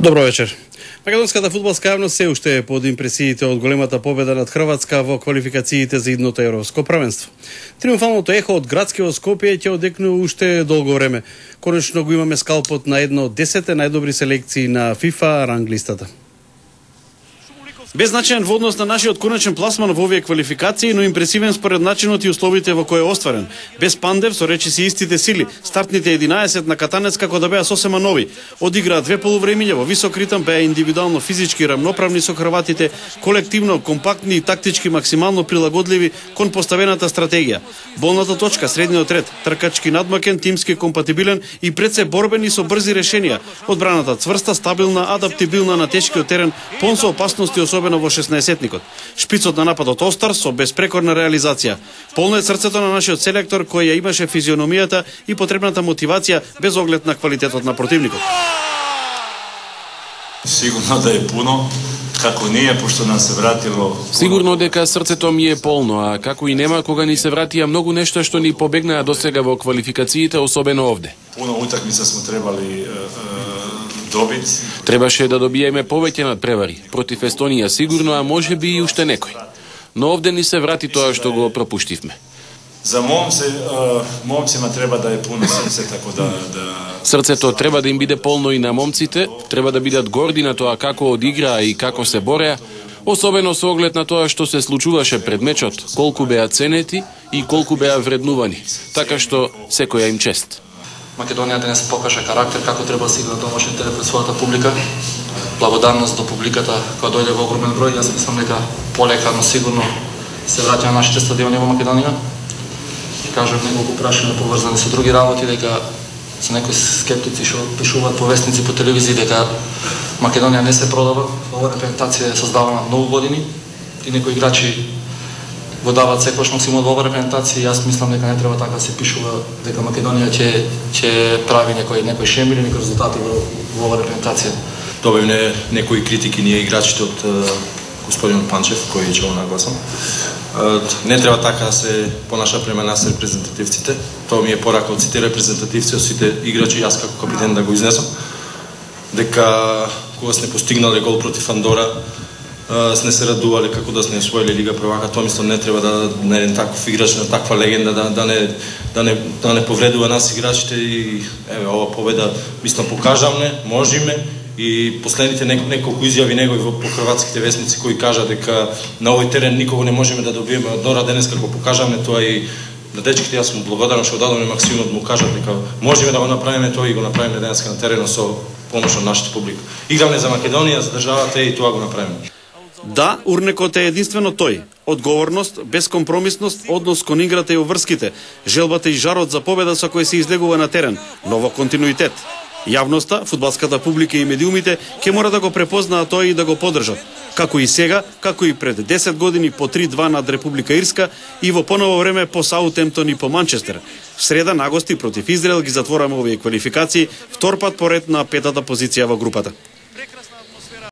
Добро вечер. Македонската фудбалска јавност се уште е под импресиите од големата победа над Хрватска во квалификациите за идното европско првенство. Триумфалното ехо од градскиот Скопје ќе одекнува уште долго време. Конечно го имаме скалпот на едно од 10 најдобри селекции на FIFA ранглистата. Беззначаен во однос на нашиот конечен пласман во овие квалификации, но импресивен според начинот и условите во кои е остварен. Без Пандев, со речиси истите сили, стартните 11 на Катанец како да беа сосема нови. Одиграа две полувремиња во висок ритм, беа индивидуално физички рамноправни со хрватите, колективно компактни и тактички максимално прилагодливи кон поставената стратегија. Болната точка, средниот ред, тркачки надмакен, тимски компатибилен и пред се борбени со брзи решенија. Одбраната цврста, стабилна, адаптибилна на тешкиот терен, пон со опасности особено во 16-етникот. Шпицот на нападот остар со безпрекорна реализација. Полно е срцето на нашиот селектор кој ја имаше физиономијата и потребната мотивација без оглед на квалитетот на противникот. Сигурно да е пуно, како ние, пошто нам се вратило... Сигурно дека срцето ми е полно, а како и нема кога ни се вратија многу нешта што ни побегнаа досега во квалификациите, особено овде. Пуно утакмица сме требали добит. Требаше да добиеме повеќе надпревари. Против Естонија сигурно, а може би и уште некој. Но овде ни се врати тоа што го пропуштивме. За момцima треба да е пуно срце, тако да... Срцето треба да им биде полно и на момците, треба да бидат горди на тоа како одиграа и како се бореа, особено со оглед на тоа што се случуваше пред мечот, колку беа ценети и колку беа вреднувани. Така што секоја им чест. Македонија денес покажа карактер како треба да се игра домашен терен пред својата публика. Благодарност до публиката која дојде во огромен број. Јас мислам дека полека, но сигурно се враќаат нашите стадиони во Македонија. И кажам неколку прашања поврзани со други работи, дека со некои скептици што пишуваат по вестници, по телевизии, дека Македонија не се продава. Ова репрезентација е создавана многу години и некои играчи го дават секојаш максимум во оваа репрезентација. Јас мислам дека не треба така да се пишува дека Македонија ќе прави некои шемили, некои резултати во оваа репрезентација. Добивме некои критики ние играчите од господин Панчев, кој ќе го нагласам. Не треба така да се понаша према нас репрезентативците. Тоа ми е порака од сите репрезентативци, од сите играчи, јас како капитен да го изнесам. Дека кога сме постигнале гол против Андора, сме се радувале како да сме освоиле Лига првака. Тоа мислам не треба да на еден таков играч, на таква легенда да не повредува нас играчите и еве ова победа мислам покажавме, можеме и последните неколку изјави негови по хрватските вестници кои кажа дека на овој терен никого не можеме да добиеме од Дора, денес како покажавме тоа и на дечките јас сум благодарен што дадоме максимумот, му кажат дека можеме да го направиме тоа и го направиме денеска на теренот со помош од нашата публика. Игравме за Македонија, за државата и тоа го направиме. Да, урнекот е единствено тој. Одговорност, безкомпромисност, однос кон играта и обврските, желбата и жарот за победа со кој се излегува на терен, но во континуитет. Јавноста, фудбалската публика и медиумите ќе мора да го препознаат тоа и да го поддржат. Како и сега, како и пред 10 години по 3-2 над Република Ирска и во поново време по Саутемптон и по Манчестер. В среда на гости против Израел ги затвораме овие квалификации, втор пат поред на петата позиција во групата.